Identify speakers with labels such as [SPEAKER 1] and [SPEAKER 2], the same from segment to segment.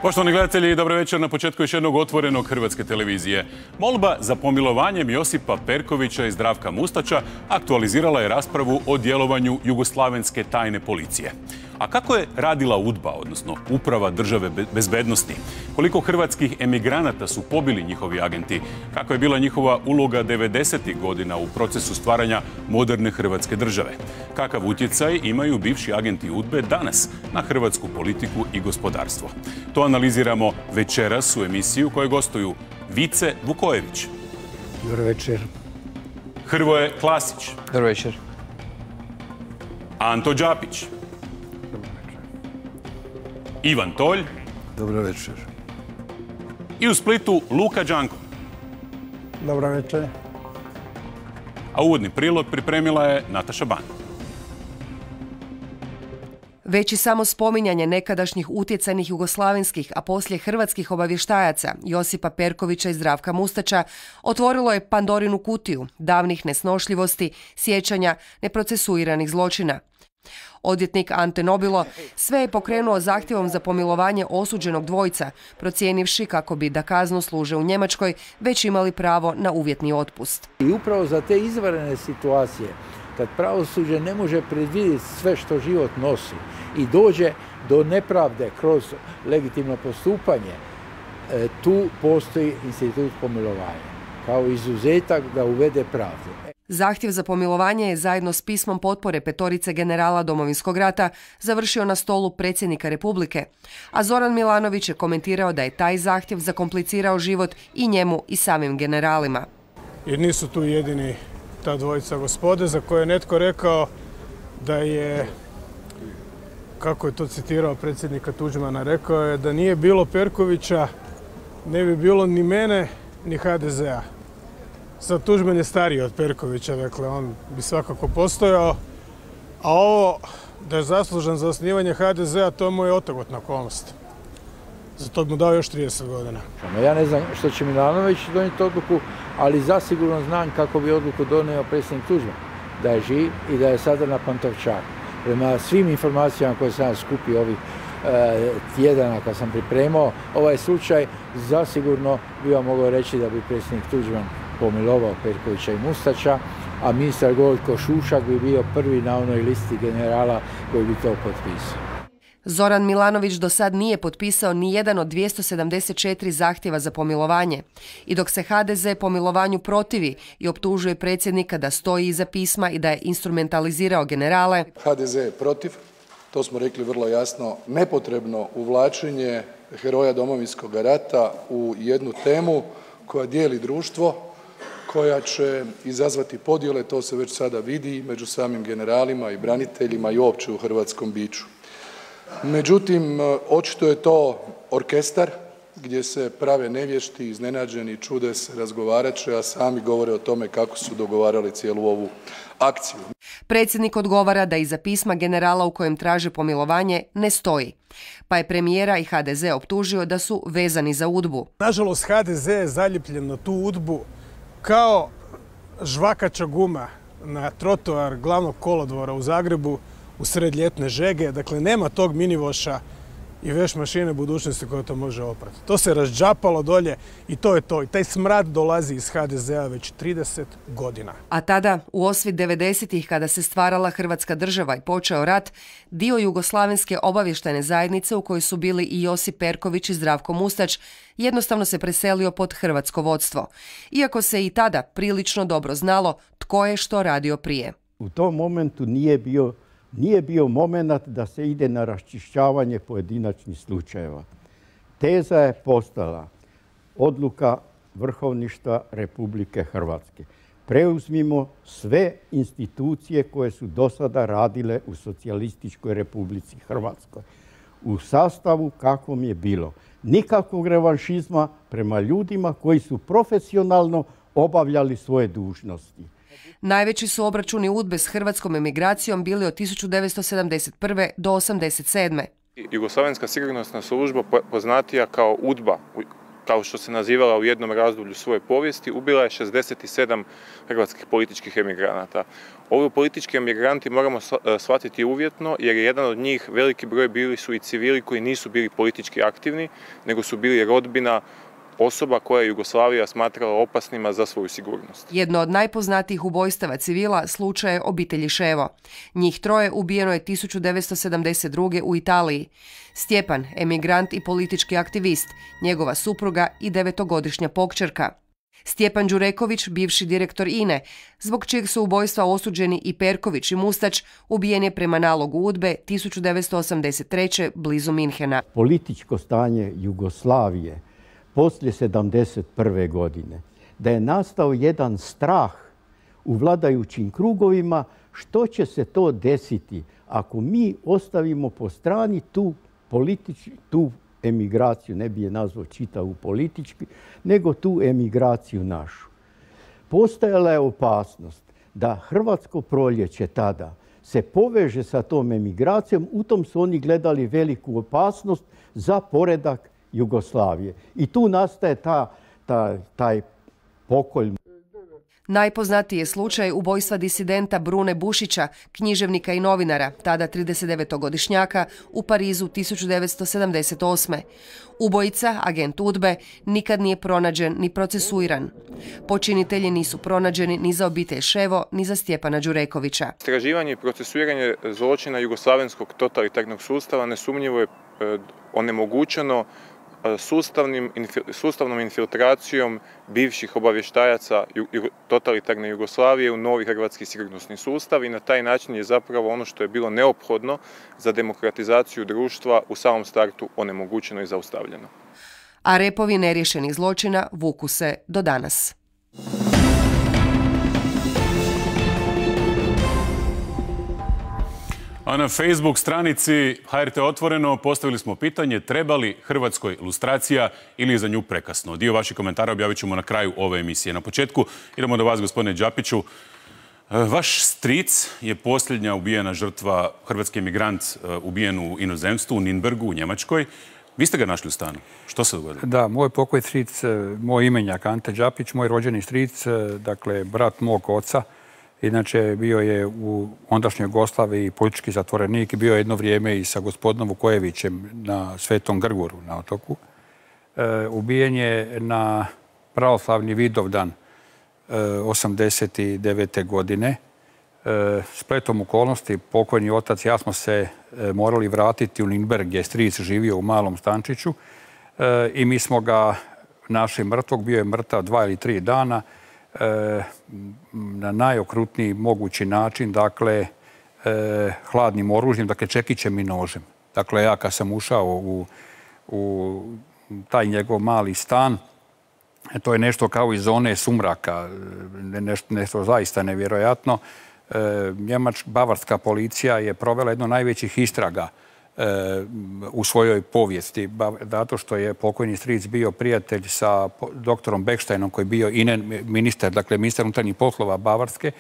[SPEAKER 1] Poštovani gledatelji, dobro večer na početku još jednog otvorenog Hrvatske televizije. Molba za pomilovanjem Josipa Perkovića i Zdravka Mustača aktualizirala je raspravu o djelovanju jugoslavenske tajne policije. A kako je radila UDBA, odnosno Uprava države bezbednosti? Koliko hrvatskih emigranata su pobili njihovi agenti? Kakva je bila njihova uloga 90. godina u procesu stvaranja moderne Hrvatske države? Kakav utjecaj imaju bivši agenti UDBE danas na hrvatsku politiku i gospodarstvo? To analiziramo večeras u emisiju kojoj gostuju Vice Vukojević.
[SPEAKER 2] Dobro večer.
[SPEAKER 1] Hrvoje Klasić.
[SPEAKER 3] Dobro večer.
[SPEAKER 1] Anto Đapić. Ivan Tolj.
[SPEAKER 2] Dobro večer.
[SPEAKER 1] I u Splitu Luka Đanko.
[SPEAKER 2] Dobro večer.
[SPEAKER 1] A uvodni prilog pripremila je Nataša Ban.
[SPEAKER 4] Već i samo spominjanje nekadašnjih utjecajnih jugoslavenskih, a poslije hrvatskih obavještajaca Josipa Perkovića i Zdravka Mustača otvorilo je Pandorinu kutiju davnih nesnošljivosti, sjećanja, neprocesuiranih zločina. Odvjetnik Ante Nobilo sve je pokrenuo zahtjevom za pomilovanje osuđenog dvojca, procijenivši kako bi da kaznu služe u Njemačkoj već imali pravo na uvjetni otpust.
[SPEAKER 5] I upravo za te izvanredne situacije, kad pravosuđe ne može predvidjeti sve što život nosi i dođe do nepravde kroz legitimno postupanje, tu postoji institut pomilovanja kao izuzetak da uvede pravdu.
[SPEAKER 4] Zahtjev za pomilovanje je zajedno s pismom potpore petorice generala Domovinskog rata završio na stolu predsjednika Republike, a Zoran Milanović je komentirao da je taj zahtjev zakomplicirao život i njemu i samim generalima.
[SPEAKER 6] Jer nisu tu jedini ta dvojica gospode za koje je netko rekao da je, kako je to citirao predsjednika Tuđmana, rekao je da nije bilo Perkovića, ne bi bilo ni mene, ni HDZ-a. Sad Tuđman je stariji od Perkovića, dakle on bi svakako postojao, a ovo da je zaslužan za osnivanje HDZ-a, to mu je otegotna okolnost. Zato mu dao još 30 godina.
[SPEAKER 5] Ja ne znam što će Milanović donijeti odluku, ali zasigurno znam kako bi odluku donio predsjednik Tuđman, da je živ i da je sada na Pantovčaku. Prema svim informacijama koje sam skupio ovih tjedana kad sam pripremao ovaj slučaj, zasigurno bi vam mogao reći da bi predsjednik Tuđman pomilovao Perkovića i Mustača, a ministar Gojko Šušak bi bio prvi na onoj listi generala koji bi to potpisao.
[SPEAKER 4] Zoran Milanović do sad nije potpisao ni jedan od 274 zahtjeva za pomilovanje. I dok se HDZ pomilovanju protivi i optužuje predsjednika da stoji iza pisma i da je instrumentalizirao generale,
[SPEAKER 7] HDZ je protiv, to smo rekli vrlo jasno, nepotrebno uvlačenje heroja Domovinskog rata u jednu temu koja dijeli društvo, koja će izazvati podjele, to se već sada vidi među samim generalima i braniteljima i uopće u hrvatskom biću. Međutim, očito je to orkestar gdje se prave nevješti, iznenađeni, čude se, razgovarat će, a sami govore o tome kako su dogovarali cijelu ovu akciju.
[SPEAKER 4] Predsjednik odgovara da iza pisma generala u kojem traže pomilovanje ne stoji, pa je premijera i HDZ optužio da su vezani za UDBU.
[SPEAKER 6] Nažalost, HDZ je zaljepljen na tu UDBU kao žvakača guma na trotoar glavnog kolodvora u Zagrebu u sred ljetne žege. Dakle, nema tog minivoša i veš mašine budućnosti koja to može oprati. To se razđapalo dolje i to je to. I taj smrad dolazi iz HDZ-a već 30 godina.
[SPEAKER 4] A tada, u osvit 90-ih, kada se stvarala Hrvatska država i počeo rat, dio jugoslavenske obavještajne zajednice u kojoj su bili i Josip Perković i Zdravko Mustač, jednostavno se preselio pod hrvatsko vodstvo. Iako se i tada prilično dobro znalo tko je što radio prije.
[SPEAKER 8] U tom momentu nije bio moment da se ide na raščišćavanje pojedinačnih slučajeva. Teza je postala odluka Vrhovništva Republike Hrvatske. Preuzmimo sve institucije koje su do sada radile u Socijalističkoj Republici Hrvatskoj. U sastavu kakvom je bilo. Nikakvog revanšizma prema ljudima koji su profesionalno obavljali svoje dužnosti.
[SPEAKER 4] Najveći su obračuni UDBE s hrvatskom emigracijom bili od 1971. do 1987.
[SPEAKER 3] Jugoslavenska sigurnosna služba, poznatija kao UDBA kao što se nazivala u jednom razdoblju svoje povijesti, ubila je 67 hrvatskih političkih emigranata. Ovi politički emigranti moramo shvatiti uvjetno, jer je jedan od njih, veliki broj, bili su i civili koji nisu bili politički aktivni, nego su bili rodbina osoba koje je Jugoslavija smatrala opasnima za svoju sigurnost.
[SPEAKER 4] Jedno od najpoznatijih ubojstava civila slučaj je obitelji Ševo. Njih troje ubijeno je 1972. u Italiji. Stjepan, emigrant i politički aktivist, njegova supruga i 9-godišnja pokćerka. Stjepan Đureković, bivši direktor INE, zbog čijeg su ubojstva osuđeni i Perković i Mustać, ubijen je prema nalogu UDBE 1983. blizu Minhena.
[SPEAKER 8] Političko stanje Jugoslavije poslije 1971. godine, da je nastao jedan strah u vladajućim krugovima što će se to desiti ako mi ostavimo po strani tu emigraciju, ne bi je nazvao čitavu politički, nego tu emigraciju našu. Postojala je opasnost da hrvatsko proljeće tada se poveže sa tom emigracijom, u tom su oni gledali veliku opasnost za poredak Jugoslavije. I tu nastaje taj pokolj.
[SPEAKER 4] Najpoznatiji je slučaj ubojstva disidenta Brune Bušića, književnika i novinara, tada 39-godišnjaka, u Parizu 1978. Ubojica, agent UDBE, nikad nije pronađen ni procesuiran. Počinitelji nisu pronađeni ni za obitelj Ševo, ni za Stjepana Đurekovića.
[SPEAKER 3] Istraživanje i procesuiranje zločina jugoslavenskog totalitarnog sustava nesumnjivo je onemogućeno sustavnom infiltracijom bivših obavještajaca totalitarne Jugoslavije u novi hrvatski sigurnosni sustav i na taj način je zapravo ono što je bilo neophodno za demokratizaciju društva u samom startu onemogućeno i zaustavljeno.
[SPEAKER 4] A repovi neriješenih zločina vuku se do danas.
[SPEAKER 1] A na Facebook stranici HRT Otvoreno postavili smo pitanje treba li Hrvatskoj lustracija ili je za nju prekasno. Dio vaših komentara objavit ćemo na kraju ove emisije. Na početku idemo do vas, gospodine Đapiću. Vaš stric je posljednja ubijena žrtva, hrvatski emigrant ubijen u inozemstvu, u Nürnbergu, u Njemačkoj. Vi ste ga našli u stanu. Što se dogodilo?
[SPEAKER 9] Da, moj pokoj stric, moj imenjak Ante Đapić, moj rođeni stric, dakle brat mog oca. Inače, bio je u ondašnjoj Jugoslaviji politički zatvorenik i bio je jedno vrijeme i sa gospodinom Vukojevićem na Svetom Grguru na otoku. Ubijen je na pravoslavni Vidovdan 1989. godine. Spletom okolnosti pokojni otac i ja smo se morali vratiti u Nürnberg gdje je stric živio u malom stančiću i mi smo ga našli mrtvog, bio je mrtav 2 ili 3 dana, na najokrutniji mogući način, dakle, hladnim oružjem, dakle, čekićem i nožem. Dakle, ja kad sam ušao u taj njegov mali stan, to je nešto kao iz zone sumraka, nešto zaista nevjerojatno. Bavarska policija je provela jedno najvećih istraga u svojoj povijesti, zato što je pokojni stric bio prijatelj sa doktorom Becksteinom koji je bio ministar, dakle ministar unutarnjih poslova Bavarske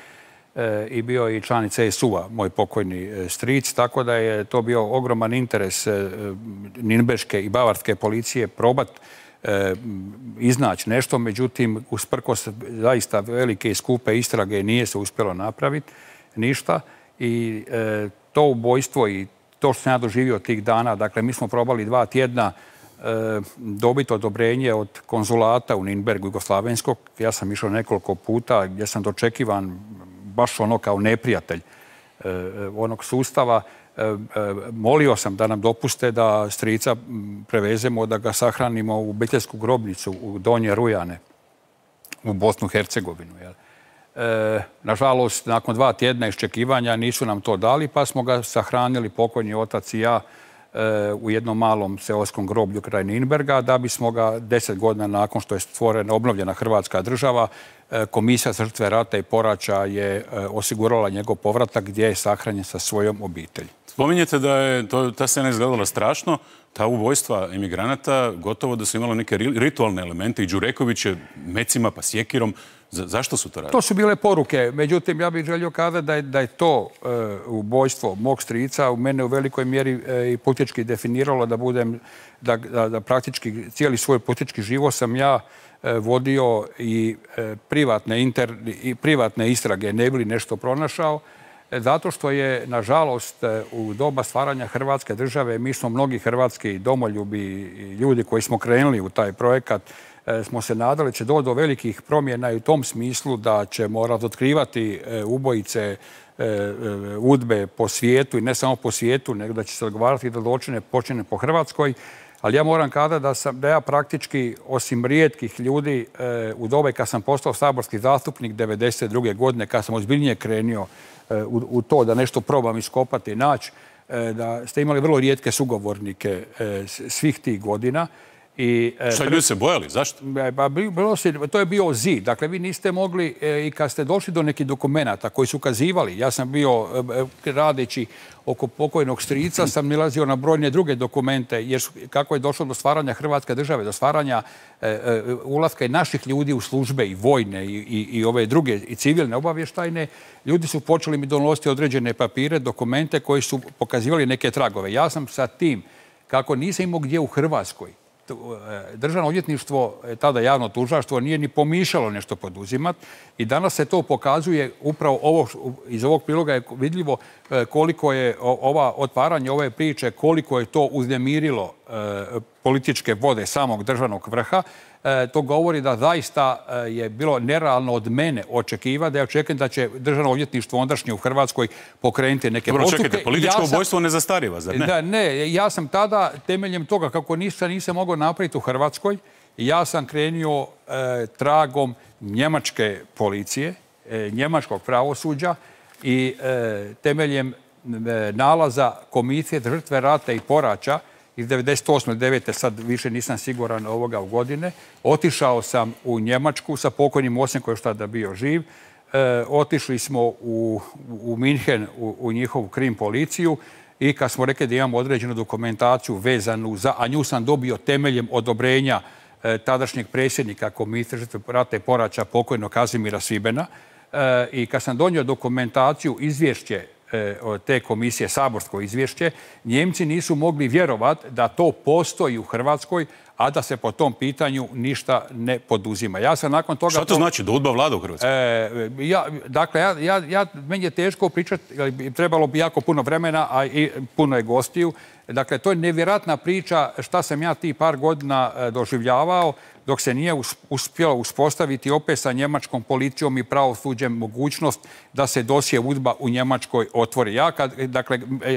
[SPEAKER 9] i bio i član CSU-a, moj pokojni stric, tako da je to bio ogroman interes Nürnberške i Bavarske policije probat iznaći nešto, međutim, usprkos zaista velike i skupe istrage nije se uspjelo napraviti ništa i to ubojstvo i to što sam ja doživio tih dana, dakle, mi smo probali 2 tjedna dobiti odobrenje od konzulata u Nürnbergu jugoslavenskog. Ja sam išao nekoliko puta gdje sam dočekivan baš ono kao neprijatelj onog sustava. Molio sam da nam dopuste da strica prevezemo, da ga sahranimo u obiteljsku grobnicu u Donje Rujane, u Bosnu i Hercegovinu. Nažalost, nakon 2 tjedna iščekivanja nisu nam to dali, pa smo ga sahranili, pokojni otac i ja, u jednom malom seoskom groblju kraj Nürnberga, da bismo ga 10 godina nakon što je stvorena, obnovljena Hrvatska država, Komisija za žrtve rata i poraća je osigurala njegov povratak gdje je sahranjen sa svojom obitelji.
[SPEAKER 1] Spominjete da je ta scena izgledala strašno, ta ubojstva emigranata gotovo da su imala neke ritualne elemente i Đureković je mecima pa sjekirom Zašto su to radili?
[SPEAKER 9] To su bile poruke. Međutim, ja bih želio kazati da je to ubojstvo mog strica u mene u velikoj mjeri i politički definiralo da praktički cijeli svoj politički život sam ja vodio i privatne istrage ne bi li nešto pronašao. Zato što je, nažalost, u doba stvaranja Hrvatske države, mi smo mnogi hrvatski domoljubi i ljudi koji smo krenuli u taj projekat, smo se nadali će doći do velikih promjena i u tom smislu da ćemo razotkrivati ubojice UDBE po svijetu i ne samo po svijetu, nego da će se odgovarati da zločine počine po Hrvatskoj. Ali ja moram kazati da ja praktički, osim rijetkih ljudi, u dobe kad sam postao saborski zastupnik 1992. godine, kad sam ozbiljnije krenio u to da nešto probam iskopati i naći, da ste imali vrlo rijetke sugovornike svih tih godina.
[SPEAKER 1] Šta, ljudi se bojali? Zašto?
[SPEAKER 9] To je bio zid. Dakle, vi niste mogli, i kad ste došli do nekih dokumenata koji su ukazivali, ja sam bio, radeći oko pokojnog strica, sam nalazio na brojne druge dokumente, jer kako je došlo do stvaranja Hrvatske države, do stvaranja ulaska i naših ljudi u službe i vojne i ove druge i civilne obavještajne, ljudi su počeli mi donositi određene papire, dokumente koji su pokazivali neke tragove. Ja sam sa tim, kako nisam imao gdje u Hrvatskoj, Državno odvjetništvo, tada javno tužilaštvo, nije ni pomišljalo nešto poduzimati i danas se to pokazuje upravo iz ovog priloga je vidljivo koliko je otvaranje ove priče, koliko je to uznemirilo političke vode samog državnog vrha. To govori da zaista je bilo nerealno od mene očekivati, da ja očekujem da će Državno odvjetništvo ondašnje u Hrvatskoj pokrenuti neke postupke.
[SPEAKER 1] Čekajte, političko ubojstvo ne zastariva, zar ne?
[SPEAKER 9] Ne, ja sam tada, temeljem toga kako nisam mogao napraviti u Hrvatskoj, ja sam krenio tragom njemačke policije, njemačkog pravosuđa i temeljem nalaza Komisije za žrtve rata i poraća iz 98. 9. sad više nisam siguran ovoga u godine. Otišao sam u Njemačku sa pokojnim ocem koji je tada bio živ. Otišli smo u Minhen, u njihovu krim policiju i kad smo rekli da imamo određenu dokumentaciju vezanu za, a nju sam dobio temeljem odobrenja tadašnjeg predsjednika Komisije za žrtve rata i poraća pokojnog Kazimira Svibena i kad sam donio dokumentaciju, izvješće od te komisije, saborsko izvješće, Njemci nisu mogli vjerovati da to postoji u Hrvatskoj, a da se po tom pitanju ništa ne poduzima. Ja sam nakon toga...
[SPEAKER 1] Šta to znači? Da UDBA vlada u Hrvatskoj?
[SPEAKER 9] Dakle, meni je teško pričati, trebalo bi jako puno vremena, a i puno je gostiju. Dakle, to je nevjerojatna priča šta sam ja tih par godina doživljavao dok se nije uspjelo uspostaviti opet sa njemačkom policijom i pravosuđem mogućnost da se dosje UDBA u Njemačkoj otvori.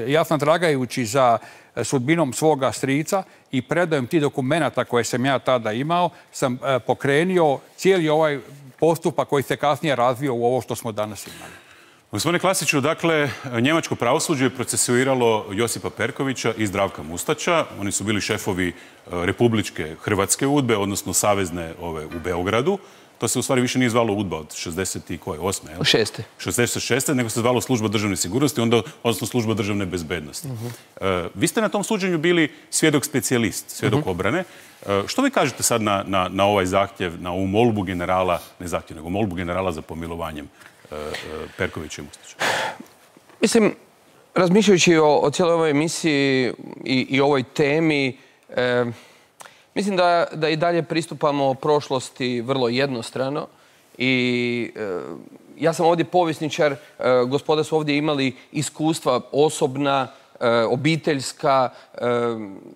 [SPEAKER 9] Ja sam tragajući za sudbinom svoga strica i predajem tih dokumenata koje sam ja tada imao, sam pokrenio cijeli ovaj postupak koji se kasnije razvio u ovo što smo danas imali.
[SPEAKER 1] Gospodine Klasiću, dakle, njemačko pravosuđe je procesuiralo Josipa Perkovića i Zdravka Mustača. Oni su bili šefovi republičke Hrvatske UDBE, odnosno savezne u Beogradu. To se u stvari više nije zvalo UDBA od 68. 66. nego se zvalo Služba državne sigurnosti, odnosno Služba državne bezbednosti. Vi ste na tom suđenju bili svjedok specijalist, svjedok obrane. Što vi kažete sad na ovaj zahtjev, na ovu molbu generala, ne zahtjev, nego molbu generala za pomilovanjem Perkovića i Mustača?
[SPEAKER 10] Mislim, razmišljajući o cijeloj ovoj emisiji i ovoj temi, mislim da i dalje pristupamo prošlosti vrlo jednostrano i ja sam ovdje povjesničar, gospoda su ovdje imali iskustva osobna, obiteljska,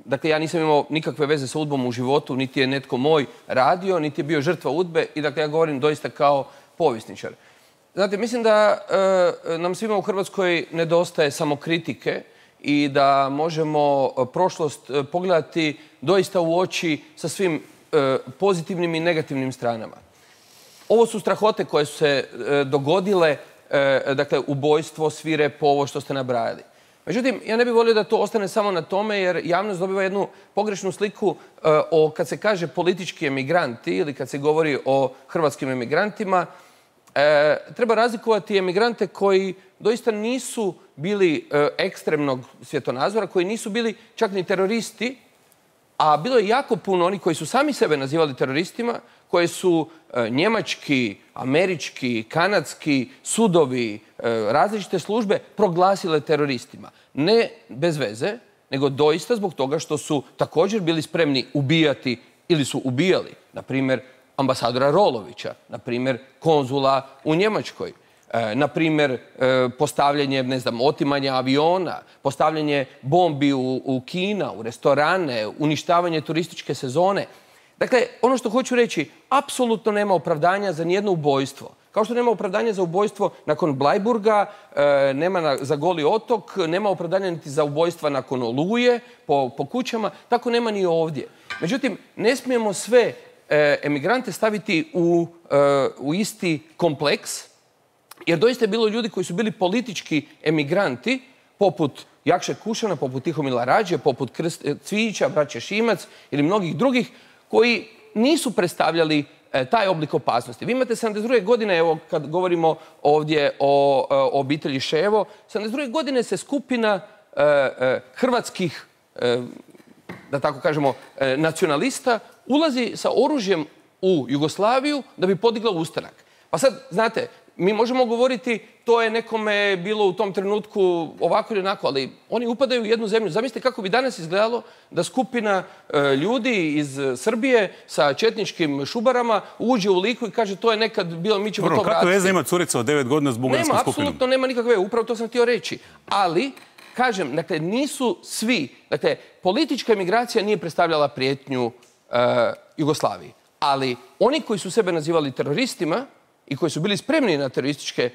[SPEAKER 10] dakle ja nisam imao nikakve veze sa UDBom u životu, niti je netko moj radio, niti je bio žrtva UDBe i dakle ja govorim doista kao povjesničar. Znate, mislim da nam svima u Hrvatskoj nedostaje samokritike i da možemo prošlost pogledati doista u oči sa svim pozitivnim i negativnim stranama. Ovo su strahote koje su se dogodile, dakle ubojstvo, svirepo, ovo što ste nabrajali. Međutim, ja ne bih volio da to ostane samo na tome jer javnost dobiva jednu pogrešnu sliku kad se kaže politički emigranti ili kad se govori o hrvatskim emigrantima. Treba razlikovati emigrante koji doista nisu bili ekstremnog svjetonazora, koji nisu bili čak ni teroristi, a bilo je jako puno onih koji su sami sebe nazivali teroristima, koje su njemački, američki, kanadski sudovi, različite službe proglasile teroristima. Ne bez veze, nego doista zbog toga što su također bili spremni ubijati ili su ubijali, na primjer, ambasadora Rolovića, na primjer, konzula u Njemačkoj, na primjer, postavljanje, ne znam, otimanja aviona, postavljanje bombi u kina, u restorane, uništavanje turističke sezone. Dakle, ono što hoću reći, apsolutno nema opravdanja za nijedno ubojstvo. Kao što nema opravdanja za ubojstvo nakon Blajburga, nema za Goli otok, nema opravdanja niti za ubojstva nakon Oluje po kućama, tako nema ni ovdje. Međutim, ne smijemo sve emigrante staviti u isti kompleks, jer doista je bilo ljudi koji su bili politički emigranti, poput Jakše Kušana, poput Tihomila Rađe, poput Cvijića, braće Šimac ili mnogih drugih, koji nisu predstavljali taj oblik opasnosti. Vi imate 72. godine, evo kad govorimo ovdje o obitelji Ševo, 72. godine se skupina hrvatskih, da tako kažemo, nacionalista ulazi sa oružjem u Jugoslaviju da bi podigla ustanak. Pa sad, znate, mi možemo govoriti to je nekome bilo u tom trenutku ovako ili onako, ali oni upadaju u jednu zemlju. Zamislite kako bi danas izgledalo da skupina ljudi iz Srbije sa četničkim šubarama uđe u Liku i kaže to je nekad bilo, mi ćemo to vratiti.
[SPEAKER 1] Kako veze ima curica od 9 godina s bugarskom skupinom?
[SPEAKER 10] Nema, apsolutno nema nikakve, upravo to sam htio reći. Ali, kažem, dakle, nisu svi, dakle, politička emigracija nije predstavljala prijetnju Jugoslaviji. Ali oni koji su sebe nazivali teroristima i koji su bili spremni na terorističke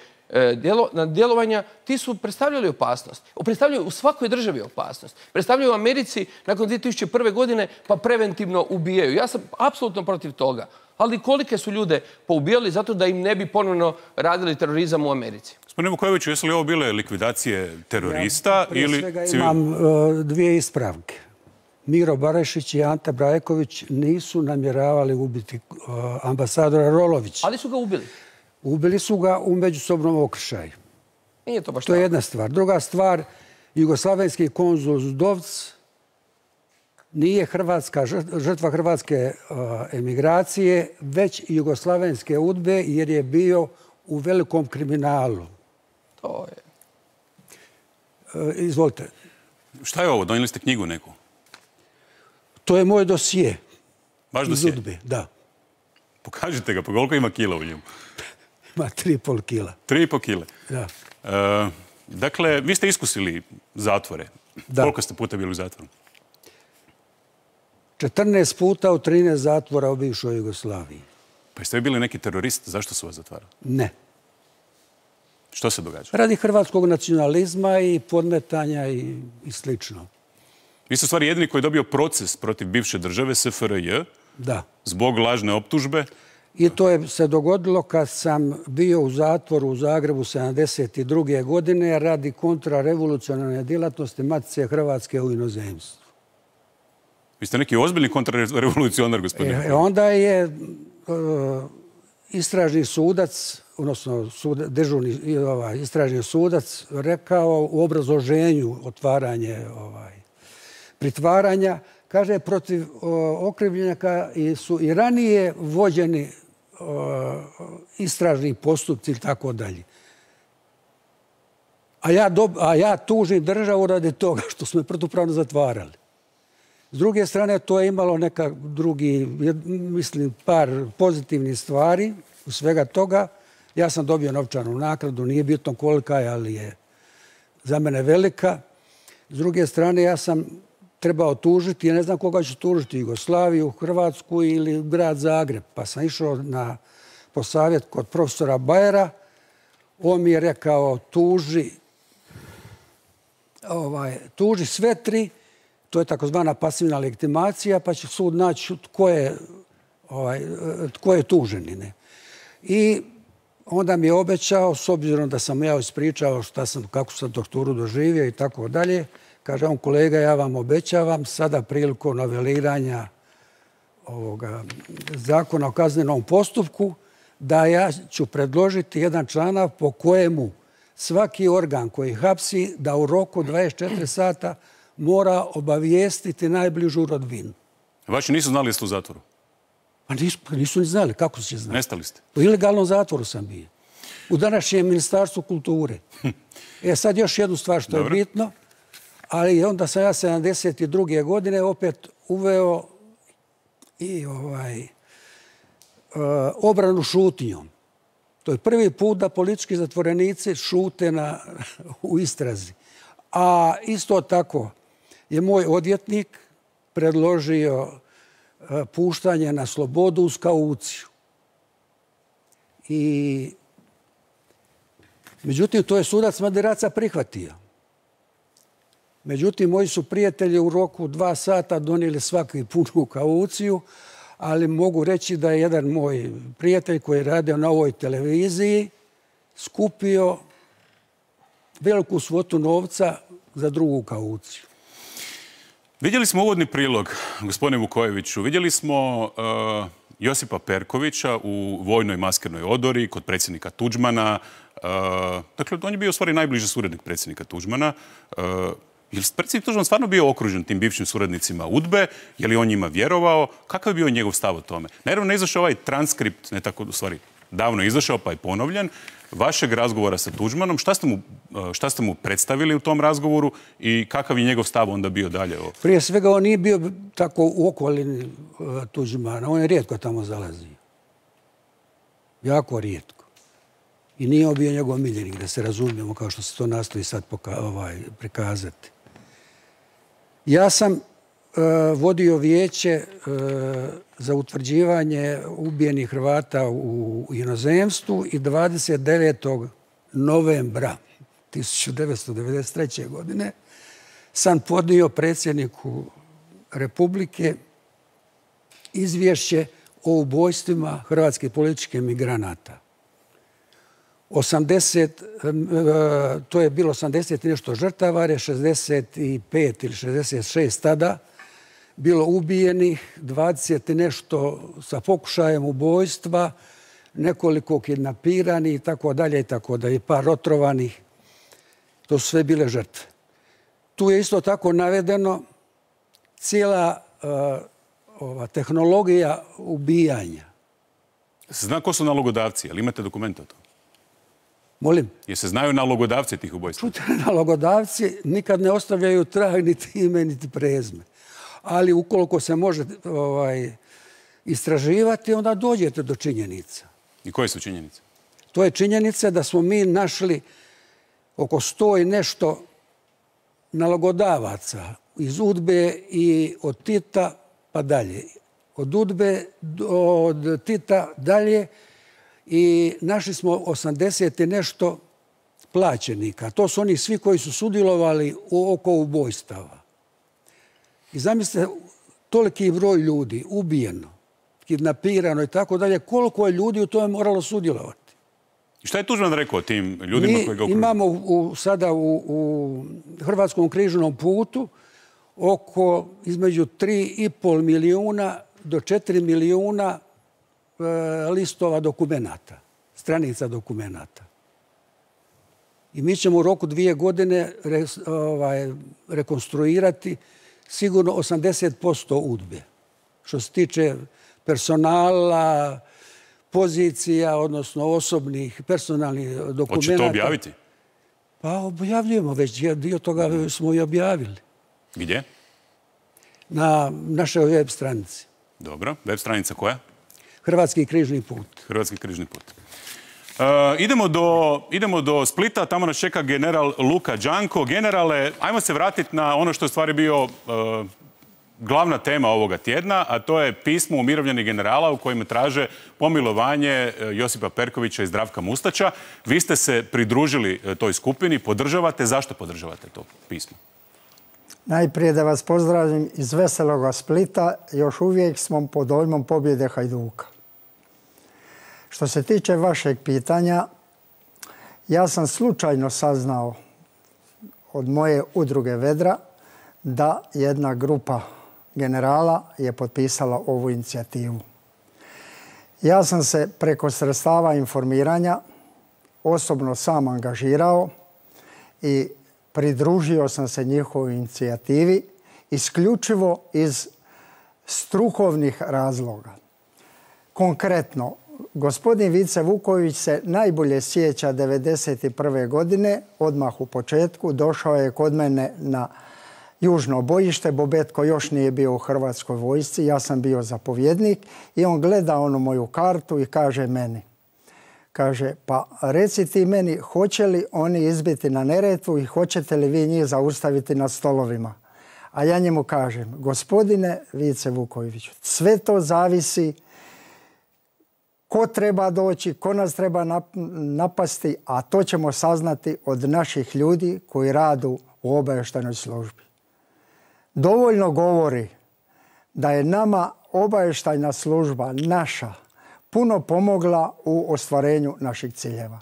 [SPEAKER 10] djelovanja, ti su predstavljali opasnost. Predstavljaju u svakoj državi opasnost. Predstavljaju u Americi nakon 2001. godine pa preventivno ubijaju. Ja sam apsolutno protiv toga. Ali kolike su ljude poubijali zato da im ne bi ponovno radili terorizam u Americi?
[SPEAKER 1] Gospodine Vukojeviću, jesu li ovo bile likvidacije terorista ili...
[SPEAKER 2] Prije svega imam dvije ispravke. Miro Barašić i Ante Brajković nisu namjeravali ubiti ambasadora Rolovića.
[SPEAKER 10] Ali su ga ubili.
[SPEAKER 2] Ubili su ga u međusobnom okršaju.
[SPEAKER 10] Nije to baš
[SPEAKER 2] to je jedna stvar. Druga stvar, jugoslavenski konzul Zdovc nije žrtva hrvatske emigracije, već jugoslavenske udbe jer je bio u velikom kriminalu.
[SPEAKER 10] To je...
[SPEAKER 2] Izvolite.
[SPEAKER 1] Šta je ovo? Donijeli ste knjigu neku?
[SPEAKER 2] To je moj dosije.
[SPEAKER 1] Baš dosije?
[SPEAKER 2] Iz udbe, da.
[SPEAKER 1] Pokažite ga, pa koliko ima kila u njemu?
[SPEAKER 2] Ima 3,5 kila.
[SPEAKER 1] 3,5 kile?
[SPEAKER 2] Da.
[SPEAKER 1] Dakle, vi ste iskusili zatvore.
[SPEAKER 2] Da.
[SPEAKER 1] Koliko ste puta bili u zatvoru?
[SPEAKER 2] 14 puta u 13 zatvora u bivšoj Jugoslaviji.
[SPEAKER 1] Pa jeste vi bili neki terorist? Zašto su vas zatvarali?
[SPEAKER 2] Ne.
[SPEAKER 1] Što se događa?
[SPEAKER 2] Radi hrvatskog nacionalizma i podmetanja i slično.
[SPEAKER 1] Vi ste u stvari jedini koji je dobio proces protiv bivše države, SFRJ,
[SPEAKER 2] da,
[SPEAKER 1] zbog lažne optužbe.
[SPEAKER 2] I to je se dogodilo kad sam bio u zatvoru u Zagrebu 1972. godine radi kontrarevolucionarne djelatnosti Matice Hrvatske u inozemstvu.
[SPEAKER 1] Vi ste neki ozbiljni kontrarevolucionar, gospodine.
[SPEAKER 2] Onda je istražni sudac, odnosno dežurni istražni sudac rekao u obrazloženju otvaranje pritvaranja, kaže protiv okrivljenika su i ranije vođeni istražni postupci i tako dalje. A ja tužim državu radi toga što smo je protupravno zatvarali. S druge strane, to je imalo neka drugi, mislim, par pozitivnih stvari u svega toga. Ja sam dobio novčanu naknadu, nije bitno kolika je, ali je za mene velika. S druge strane, ja sam trebao tužiti, ja ne znam koga ću tužiti, Jugoslaviju, Hrvatsku ili grad Zagreb. Pa sam išao po savjet kod profesora Bajera. On mi je rekao, tuži sve tri, to je takozvana pasivna legitimacija, pa će sud naći tko je tuženi. I onda mi je obećao, s obzirom da sam ja ispričao kako sam torturu doživio i tako dalje, kaže on, kolega, ja vam obećavam sada prilikom noveliranja zakona o kaznenom postupku da ja ću predložiti jedan članak po kojemu svaki organ koji hapsi da u roku 24 sata mora obavijestiti najbližu rodbinu.
[SPEAKER 1] Vaši nisu znali da ste u zatvoru?
[SPEAKER 2] Pa nisu ni znali, kako će znati.
[SPEAKER 1] Nestali ste?
[SPEAKER 2] U ilegalnom zatvoru sam bio. U današnjem Ministarstvu kulture. Sad još jednu stvar što je bitno, ali onda sam ja 72. godine opet uveo i obranu šutnjom. To je prvi put da politički zatvorenici šute u istrazi. A isto tako je moj odvjetnik predložio puštanje na slobodu uz kauciju. Međutim, to je sudac Maderaca prihvatio. Međutim, moji su prijatelji u roku 2 sata donijeli svaki punu kauciju, ali mogu reći da je jedan moj prijatelj koji je radio na ovoj televiziji skupio veliku svotu novca za drugu kauciju.
[SPEAKER 1] Vidjeli smo uvodni prilog, gospodine Vukojeviću. Vidjeli smo Josipa Perkovića u vojnoj maskernoj odori kod predsjednika Tuđmana. Dakle, on je bio u stvari najbliži suradnik predsjednika Tuđmana. Je li predsjednik Tuđman stvarno bio okružen tim bivšim suradnicima UDBE? Je li on njima vjerovao? Kakav je bio njegov stav o tome? Naravno, ne izašao ovaj transkript, ne tako, u stvari, davno je izašao pa je ponovljen, vašeg razgovora sa Tuđmanom. Šta ste mu predstavili u tom razgovoru i kakav je njegov stav onda bio dalje?
[SPEAKER 2] Prije svega, on nije bio tako u okolini Tuđmana. On je rijetko tamo zalazio. Jako rijetko. I nije on bio njegov miljenik, da se razumijemo, kao što se to nastoji sad prikazati. Ja sam vodio vijeće za utvrđivanje ubijenih Hrvata u inozemstvu i 29. novembra 1993. godine sam podnio predsjedniku Republike izvješće o ubojstvima hrvatskih političkih migranata. To je bilo 80 i nešto žrtava, je 65 ili 66 tada bilo ubijenih, 20 i nešto sa pokušajem ubojstva, nekoliko kidnapiranih i tako dalje, i par otrovanih. To su sve bile žrtve. Tu je isto tako navedeno cijela tehnologija ubijanja.
[SPEAKER 1] Zna ko su nalogodavci, ali imate dokumente o tom?
[SPEAKER 2] Molim?
[SPEAKER 1] Jer se znaju nalogodavci tih ubojstva?
[SPEAKER 2] Nalogodavci nikad ne ostavljaju trag, niti ime, niti prezime. Ali ukoliko se može istraživati, onda dođete do činjenica.
[SPEAKER 1] I koje su činjenice?
[SPEAKER 2] To je činjenica da smo mi našli oko 100 i nešto nalogodavaca iz UDBE i od Tita pa dalje. Od UDBE, od Tita dalje, i našli smo 80 i nešto plaćenika. To su oni svi koji su sudjelovali oko ubojstava. I zamislite, toliki broj ljudi ubijeno, kidnapirano i tako dalje, koliko je ljudi u tome moralo sudjelovati.
[SPEAKER 1] I šta je Tuđman rekao tim ljudima koji ga okružuju?
[SPEAKER 2] Imamo sada u Hrvatskom križnom putu oko između 3,5 milijuna do 4 milijuna listova dokumenata, stranica dokumenata. I mi ćemo u roku 2 godine rekonstruirati sigurno 80% UDBE. Što se tiče personala, pozicija, odnosno osobnih, personalnih dokumenata.
[SPEAKER 1] Hoće to objaviti?
[SPEAKER 2] Pa objavljujemo već, dio toga smo i objavili.
[SPEAKER 1] Gdje?
[SPEAKER 2] Na našoj web stranici.
[SPEAKER 1] Dobro, web stranica koja?
[SPEAKER 2] Hrvatski križni put.
[SPEAKER 1] Hrvatski križni put. Idemo do Splita, tamo nas čeka general Luka Đanko. Generale, ajmo se vratiti na ono što je u stvari bio glavna tema ovoga tjedna, a to je pismo umirovljenih generala u kojem traže pomilovanje Josipa Perkovića i Zdravka Mustača. Vi ste se pridružili toj skupini, podržavate. Zašto podržavate to pismo?
[SPEAKER 11] Najprije da vas pozdravim iz veseloga Splita. Još uvijek smo pod dojmom pobjede Hajduka. Što se tiče vašeg pitanja, ja sam slučajno saznao od moje udruge Vedra da jedna grupa generala je potpisala ovu inicijativu. Ja sam se preko sredstava informiranja osobno sam angažirao i pridružio sam se njihovoj inicijativi isključivo iz strukovnih razloga. Konkretno, gospodin Vice Vuković se najbolje sjeća 1991. godine, odmah u početku, došao je kod mene na južno bojište. Bobetko još nije bio u Hrvatskoj vojsci, ja sam bio zapovjednik i on gleda onu moju kartu i kaže meni, kaže, pa reci ti meni, hoće li oni izbiti na Neretvu i hoćete li vi njih zaustaviti na stolovima? A ja njemu kažem, gospodine Vice Vukoviću, sve to zavisi ko treba doći, ko nas treba napasti, a to ćemo saznati od naših ljudi koji radu u obavještajnoj službi. Dovoljno govori da je nama obavještajna služba naša puno pomogla u ostvarenju naših ciljeva.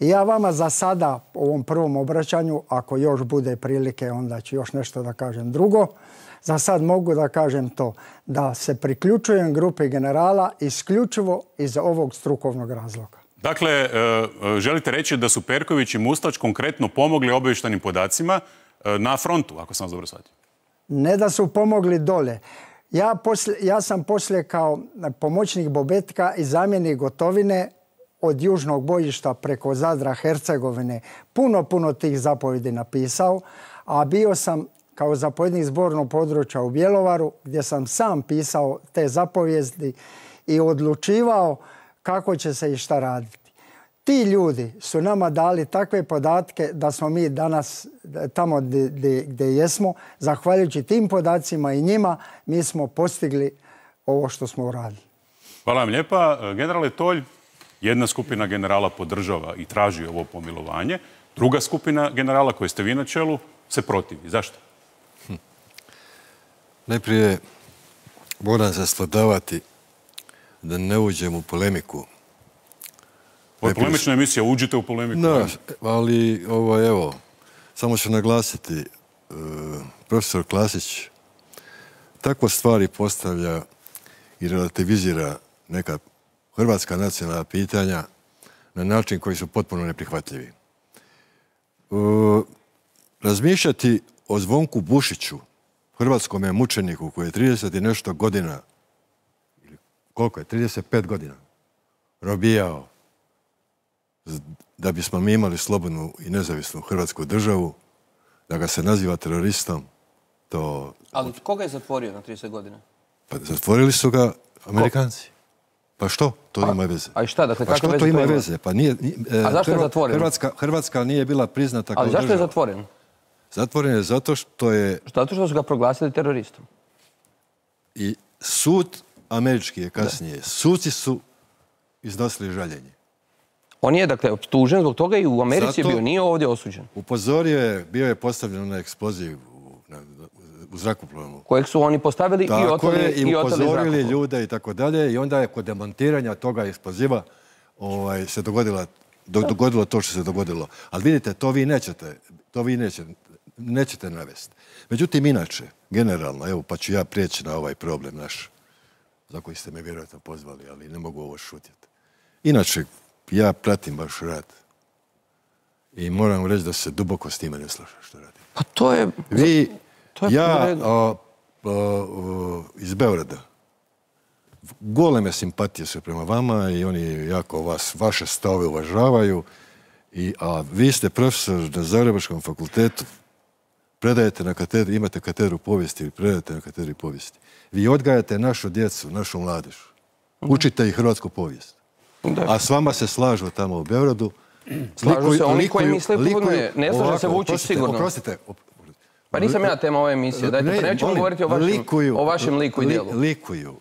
[SPEAKER 11] I ja vama za sada u ovom prvom obraćanju, ako još bude prilike, onda ću još nešto da kažem drugo. Za sad mogu da kažem to, da se priključujem grupi generala isključivo iz ovog strukovnog razloga.
[SPEAKER 1] Dakle, želite reći da su Perković i Mustač konkretno pomogli obavještajnim podacima na frontu, ako sam vas dobro shvatio?
[SPEAKER 11] Ne da su pomogli dole. Ja sam poslije kao pomoćnik Bobetka i zamjenik Gotovine od južnog bojišta preko Zadra, Hercegovine puno tih zapovjedi napisao, a bio sam kao zapovjednik zbornog područja u Bjelovaru gdje sam sam pisao te zapovijesti i odlučivao kako će se i šta raditi. Ti ljudi su nama dali takve podatke da smo mi danas tamo gdje jesmo, zahvaljujući tim podacima i njima, mi smo postigli ovo što smo uradili.
[SPEAKER 1] Hvala vam lijepa. Generale Tolj, jedna skupina generala podržava i traži ovo pomilovanje. Druga skupina generala, koje ste vi na čelu, se protivi. Zašto?
[SPEAKER 12] Najprije moram se svladavati da ne uđem u polemiku.
[SPEAKER 1] Ovo je polemična emisija, uđite u polemiku.
[SPEAKER 12] Da, ali evo, samo ću naglasiti, profesor Klasić takve stvari postavlja i relativizira neka hrvatska nacionalna pitanja na način koji su potpuno neprihvatljivi. Razmišljati o Zvonku Bušiću, hrvatskome mučeniku koji je 30 i nešto godina, koliko je, 35 godina, robijao da bismo mi imali slobodnu i nezavisnu hrvatsku državu, da ga se naziva teroristom, to...
[SPEAKER 10] Ali koga je zatvorio na 30 godina?
[SPEAKER 12] Pa zatvorili su ga Amerikanci. Pa što? To ima veze.
[SPEAKER 10] A i šta? Dakle,
[SPEAKER 12] pa što to ima veze? Pa nije...
[SPEAKER 10] A zašto je zatvoren?
[SPEAKER 12] Hrvatska nije bila priznata kao država.
[SPEAKER 10] Ali zašto je zatvoren?
[SPEAKER 12] Zatvoren je zato što je...
[SPEAKER 10] Zato što su ga proglasili teroristom.
[SPEAKER 12] I sud američki je kasnije. Suci su iznosili žaljenje.
[SPEAKER 10] On je, dakle, optužen zbog toga i u Americi je bio, nije ovdje osuđen.
[SPEAKER 12] Upozorio je, bio je postavljen na eksploziv u zrakoplovu.
[SPEAKER 10] Kojeg su oni postavili i oteli zrakoplov.
[SPEAKER 12] I upozorili ljude i tako dalje. I onda je kod demontiranja toga eksploziva se dogodilo to što se dogodilo. Ali vidite, to vi nećete navesti. Međutim, inače, generalno, evo pa ću ja prijeći na ovaj problem naš, za koji ste me vjerojatno pozvali, ali ne mogu ovo šutjeti. Inače, ja pratim vaš rad i moram reći da se duboko s time ne slažem što radim.
[SPEAKER 10] Pa to je...
[SPEAKER 12] Iz Beograda, goleme simpatije su prema vama i oni jako vaše stavove uvažavaju, a vi ste profesor na Zagrebačkom fakultetu, predajete na katedru, imate katedru povijesti ili predajete na katedri povijesti. Vi odgajate našu djecu, našu mladež. Učite i hrvatsku povijest. A s vama se slažu tamo u Beogradu.
[SPEAKER 10] Slažu se oni koji misle puno, ne slaže se Vučić sigurno.
[SPEAKER 12] Oprostite.
[SPEAKER 10] Pa nisam ja tema ove emisije. Dajte, pa nećemo govoriti o vašem liku i dijelu.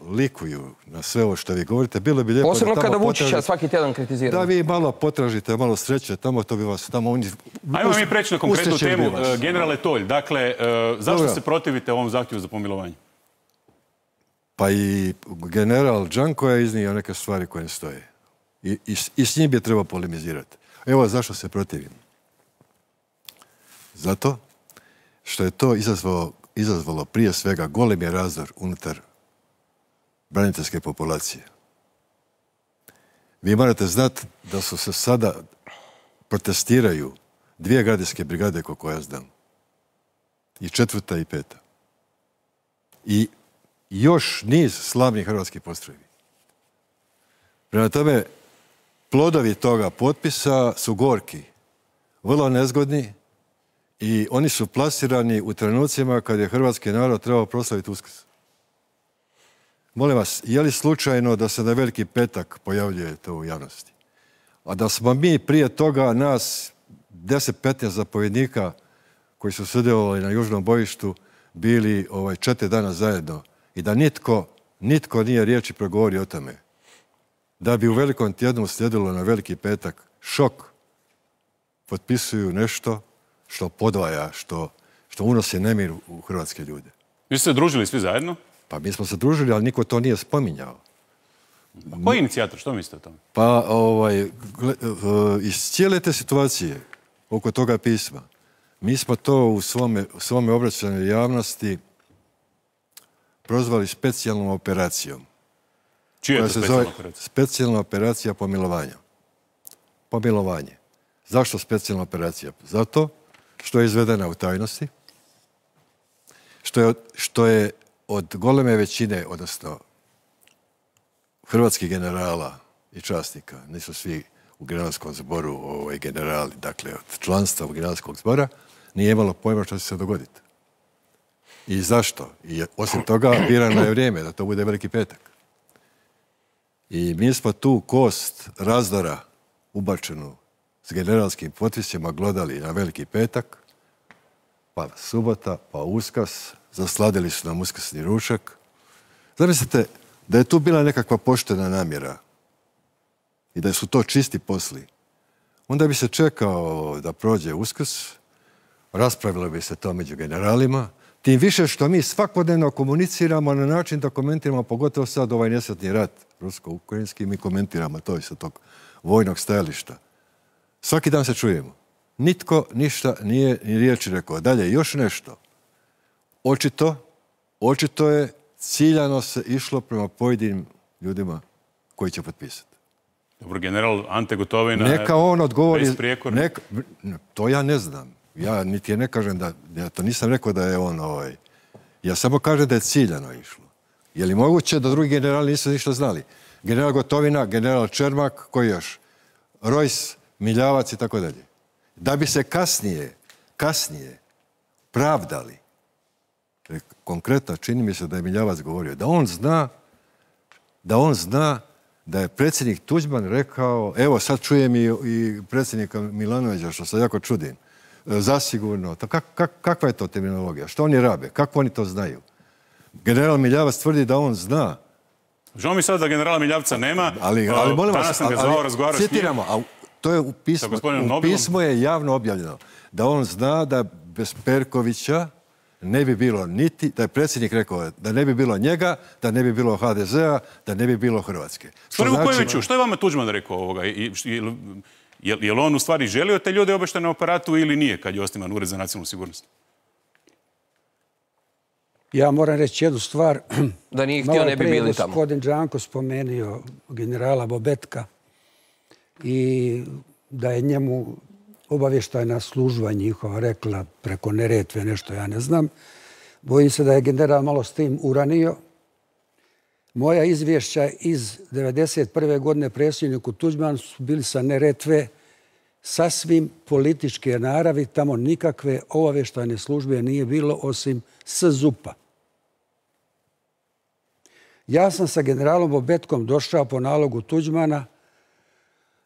[SPEAKER 12] Likuju na sve ovo što vi govorite. Bilo bi lijepo
[SPEAKER 10] posebno kada Vučića svaki tjedan kritiziramo.
[SPEAKER 12] Da vi malo potražite, malo sreće, tamo to bi vas...
[SPEAKER 1] Ajmo mi preći na konkretnu temu. Generale Tolj, dakle, zašto se protivite ovom zahtjevu za pomilovanje?
[SPEAKER 12] Pa i general Đanko je iznio neke stvari koje ne stoje. I s njim bi trebao polemizirati. Evo zašto se protivim. Zato što je to izazvalo prije svega golemi razdor unutar braniteljske populacije. Vi morate znati da su se sada protestiraju 2 gardijske brigade, koliko ja znam. I 4. i 5. I još niz slavnih hrvatskih postrojbi. Prema tome, plodovi toga potpisa su gorki, vrlo nezgodni i oni su plasirani u trenucima kad je hrvatski narod trebao proslaviti Uskrs. Molim vas, je li slučajno da se na Veliki petak pojavljuje to u javnosti? A da smo mi prije toga nas 10-15 zapovjednika koji su sudjelovali na južnom bojištu bili 4 dana zajedno i da nitko nije riječi progovorio o tome. Da bi u Velikom tjednu slijedilo na Veliki petak šok, potpisuju nešto što podvaja, što unosi nemir u hrvatske ljude.
[SPEAKER 1] Vi ste se družili svi zajedno?
[SPEAKER 12] Pa mi smo se družili, ali niko to nije spominjao.
[SPEAKER 1] Koji je inicijator? Što mislite o tome?
[SPEAKER 12] Pa iz cijele te situacije oko toga pisma, mi smo to u svome obraćanju javnosti prozvali specijalnom operacijom.
[SPEAKER 1] Čija je to specijalna operacija?
[SPEAKER 12] Specijalna operacija pomilovanja. Pomilovanje. Zašto specijalna operacija? Zato što je izvedena u tajnosti, što je od goleme većine, odnosno hrvatskih generala i časnika, nisu svi u generalskom zboru generali, dakle od članstva u generalskog zbora, nije imalo pojma što će se dogoditi. I zašto? I osim toga, birano je vrijeme da to bude Veliki petak. I mi smo tu kost razdora ubačenu s generalskim potpisima glodali na Veliki petak, pa subota, pa Uskrs, zasladili su nam uskrsni ručak. Zamislite da je tu bila nekakva poštena namjera i da su to čisti posli. Onda bi se čekao da prođe Uskrs, raspravilo bi se to među generalima, tim više što mi svakodnevno komuniciramo na način da komentiramo, pogotovo sad ovaj nesretni rat rusko-ukrajinski, mi komentiramo to sa tog vojnog stajališta. Svaki dan se čujemo. Nitko ništa nije ni riječi rekao. Dalje, još nešto. Očito je ciljano se išlo prema pojedinim ljudima koji će potpisati.
[SPEAKER 1] Dobro, general Ante Gotovina...
[SPEAKER 12] Neka on odgovori...
[SPEAKER 1] Besprijekorno.
[SPEAKER 12] To ja ne znam. Ja niti je ne kažem da... Ja to nisam rekao da je on Ja samo kažem da je ciljano išlo. Je li moguće da drugi generali nisu ništa znali? General Gotovina, general Čermak, koji još? Rojs, Miljavac i tako dalje. Da bi se kasnije pravdali. Konkretno, čini mi se da je Miljavac govorio, da on zna da je predsjednik Tuđman rekao, evo sad čujem i predsjednika Milanovića, što se jako čudim, zasigurno. Kakva je to terminologija? Što oni rabe? Kako oni to znaju? General Miljavac tvrdi da on zna.
[SPEAKER 1] Žao mi sad da generala Miljavca nema.
[SPEAKER 12] Ali molim vas,
[SPEAKER 1] danas sam ga zvao, razgovarao s njim.
[SPEAKER 12] citiramo, a to je u pismu je javno objavljeno, da on zna da bez Perkovića ne bi bilo niti, da je predsjednik rekao da ne bi bilo njega, da ne bi bilo HDZ-a, da ne bi bilo Hrvatske.
[SPEAKER 1] Što je vama Tuđman rekao ovoga? Je li on u stvari želio te ljude obeštene na aparatu ili nije kad je osnivan Ured za nacionalnu sigurnost?
[SPEAKER 2] Ja moram reći jednu stvar.
[SPEAKER 10] Da nije htio, ne bi bili tamo.
[SPEAKER 2] Gospodin Đanko spomenio generala Bobetka i da je njemu obavještajna služba njihova rekla preko Neretve nešto, ja ne znam. Bojim se da je general malo s tim uranio. Moja izvješća iz 1991. godine predsjedniku Tuđmanu su bili sa Neretve sasvim političke naravi. Tamo nikakve obavještajne službe nije bilo osim SZUP-a. Ja sam sa generalom Bobetkom došao po nalogu Tuđmana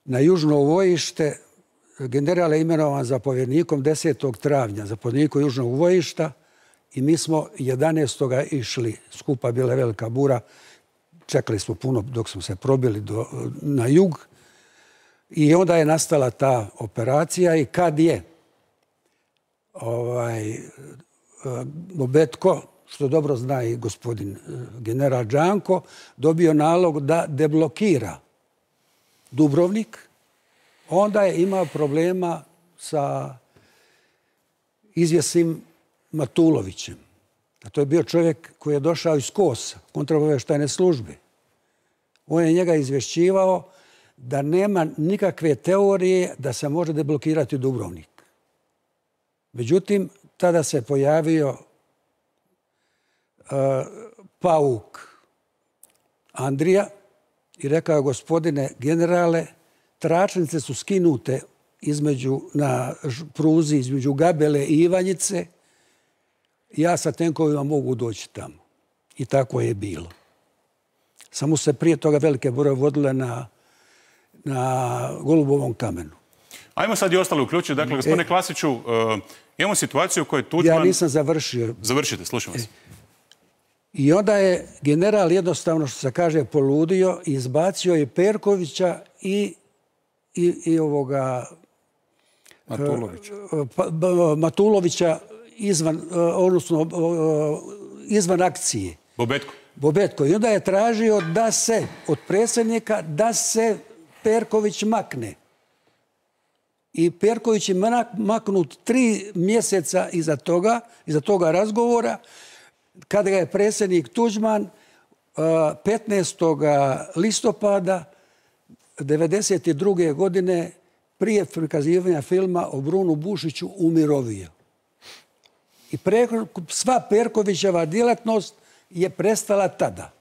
[SPEAKER 2] na južno vojište. General je imenovan zapovjednikom 10. travnja, zapovjednikom južnog vojišta, i mi smo 11. išli. Skupa bila velika bura. Čekali smo puno dok smo se probili na jug. I onda je nastala ta operacija i kad je Bobetko, što dobro zna i gospodin general Đanko, dobio nalog da deblokira Dubrovnik, onda je imao problema sa izvjesnim Matulovićem. A to je bio čovjek koji je došao iz KOS-a, kontraobavještajne službe. On je njega izvješćivao da nema nikakve teorije da se može deblokirati Dubrovnik. Međutim, tada se pojavio Pauk Andrija i rekao, gospodine generale, tračnice su skinute na pruzi između Gabele i Ivanjice. Ja sa tenkovima mogu doći tamo. I tako je bilo. Samo se prije toga velike boroje vodile na Golubovom kamenu.
[SPEAKER 1] Ajmo sad i ostali uključiti. Dakle, gospodine Klasiću, imamo situaciju u kojoj Tuđman...
[SPEAKER 2] Ja nisam završio.
[SPEAKER 1] Završite, slušam vas.
[SPEAKER 2] I onda je general jednostavno, što se kaže, poludio i izbacio je Perkovića i Matulovića izvan akcije. Bobetko. I onda je tražio od predsjednika da se Perković makne. I Perković je maknut 3 mjeseca iza toga razgovora, kada ga je predsjednik Tuđman 15. listopada 1992. godine prije prikazivanja filma o Brunu Bušiću umirovio. I sva Perkovićeva djelatnost je prestala tada.